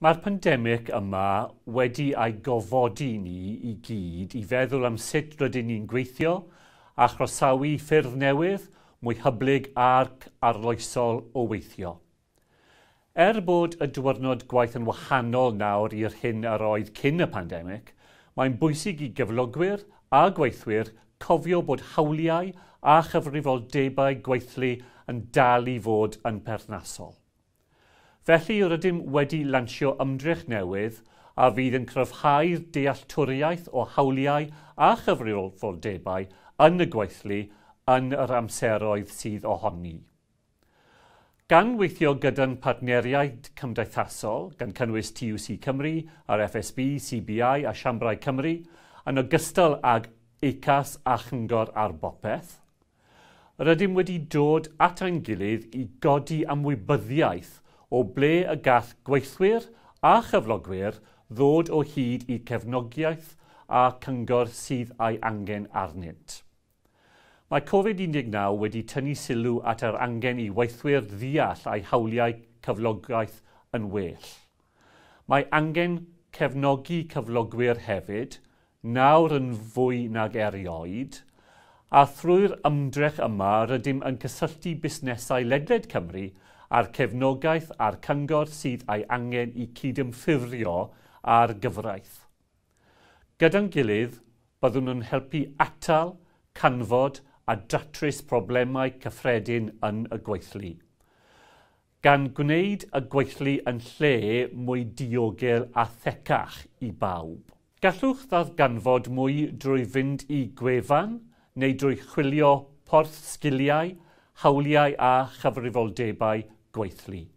Mae'r pandemig yma wedi ei gofodi ni i gyd i feddwl am sut rydyn ni'n gweithio a chroesawu ffyrdd newydd, mwy hyblyg ac arloesol o weithio. Er bod y diwrnod gwaith yn wahanol nawr i'r hyn yr oedd cyn y pandemig, mae'n bwysig i gyflogwyr a gweithwyr cofio bod hawliau a chyfrifoldebau gweithlu yn dal i fod yn perthnasol. Felly rydym wedi lansio ymdrech newydd a fydd yn cryfhau'r dealltwriaeth o hawliau a chyfrifoldebau yn y gweithlu yn yr amseroedd sydd ohoni. Gan weithio gyda'n partneriaid cymdeithasol, gan cynnwys TUC Cymru, a'r FSB, CBI a Siambrau Cymru, yn ogystal ag ACAS a Chyngor ar Bopeth, rydym wedi dod at ein gilydd i godi ymwybyddiaeth o ble y gall gweithwyr a chyflogwyr ddod o hyd i cefnogiaeth a cyngor sydd ei angen arnynt. Mae Covid-19 wedi tynnu sylw at yr angen i weithwyr ddeall eu hawliau cyflogaeth yn well. Mae angen cefnogi cyflogwyr hefyd, nawr yn fwy nag erioed, a thrwy'r ymdrech yma rydym yn cysylltu busnesau ledled Cymru a'r cefnogaeth a'r cyngor sydd ei angen i cydymffurfio â'r gyfraith. Gyda'n gilydd, byddwn yn helpu atal, canfod a datrys problemau cyffredin yn y gweithlu. Gan gwneud y gweithlu yn lle mwy diogel a thecach i bawb. Gallwch ddarganfod mwy drwy fynd i gwefan neu drwy chwilio porth sgiliau, hawliau a chyfrifoldebau gweithlu.